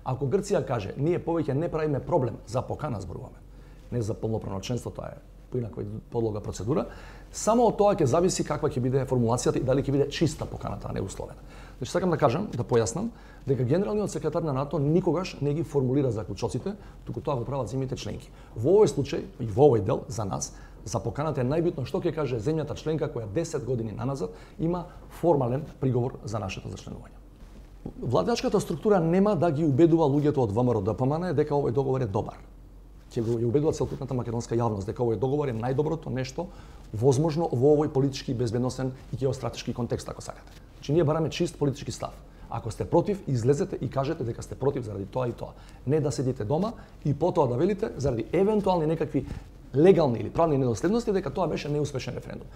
Ако Грција каже, ние повеќе не правиме проблем за покана зборуваме, не за полноправно членство, тоа е поинако подлога процедура, само од тоа ќе зависи каква ќе биде формулацијата и дали ќе биде чиста поканата, а не условена. Значи сакам да кажам, да појаснам, дека генералниот секретар на НАТО никогаш не ги формулира заклучоците, туку тоа го прават земјите членки. Во овој случај и во овој дел за нас, за поканата е најбитно што ќе каже земјата членка која 10 години наназад има формален приговор за нашето зачленување. Владачката структура нема да ги убедува луѓето од ВМРО-ДПМН дека овој договор е добар. Ќе го убедува целокупната македонска јавност дека овој договор е најдоброто нешто возможно во овој политички, безбедносен и геостратешки контекст, ако сакате. Значи ние бараме чист политички став. Ако сте против, излезете и кажете дека сте против заради тоа и тоа. Не да седите дома и потоа да велите заради евентуални некакви легални или правни недоследности дека тоа беше неуспешен референдум.